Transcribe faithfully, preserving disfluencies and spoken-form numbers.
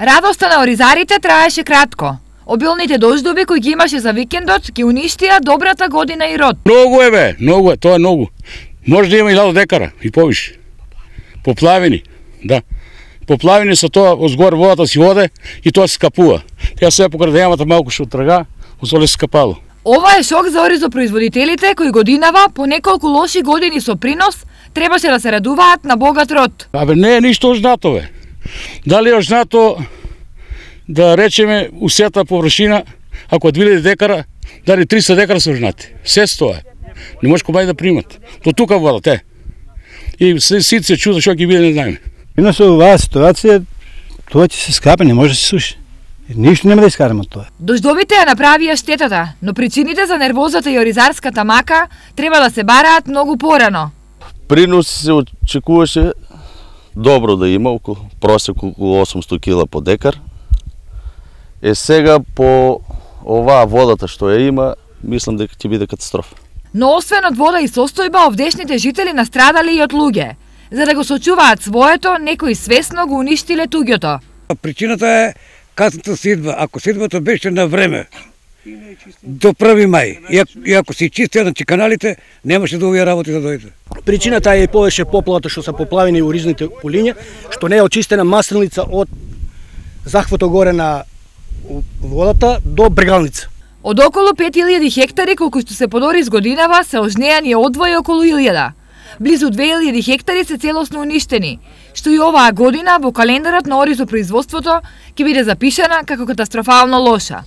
Радоста на оризарите траеше кратко. Обилните дождови кои ги имаше за викендот ги уништија добрата година и род. Многу е бе, многу е, тоа е многу. Може да има илјада декара и повише. Поплавени, да. Поплавени со тоа, озгор водата си оде и тоа се скапува. Ја сега покрај ямата малку што трга, озоле се скапало. Ова е шок за оризопроизводителите кои годинава по неколку лоши години со принос требаше да се радуваат на богат род. Абе не е ништо ожнато бе. Дали е ожнато да речеме усета површина, ако две илјади декара, дали триста декара се ожнати. Се тоа е. Не може комај да примат. До тука водат е. И сите се чуда што ќе биде не знаеме. Ино со оваа ситуација, тоа ќе се скапе, не може да се суши. Ништо нема да искараме од тоа. Дождовите ја направија штетата, но причините за нервозата и оризарската мака треба да се бараат многу порано. Принос се очекуваше добро да има, околу просек околу осумстотини кила по декар. Е сега по оваа водата што ја има, мислам дека ќе биде катастрофа. Но освен од вода и состојба, овдешните жители настрадале и од луѓе. За да го сочуваат своето, некои свесно го уништиле туѓото. Причината е касната сидба. Ако сидбата беше на време, до први мај, и ако, и ако си чистија значи каналите, немаше да овие работи да дојде. Причината е и повеќе поплавата што се поплавени оризните полиња, што не е очистена масленица од захвато горе на водата до брегалница. Од околу пет илјади хектари колку што се подори с годинава се ожнеани одвои околу илјада. Близу две илјади хектари се целосно уништени, што и оваа година во календарот на оризопроизводството ќе биде запишана како катастрофално лоша.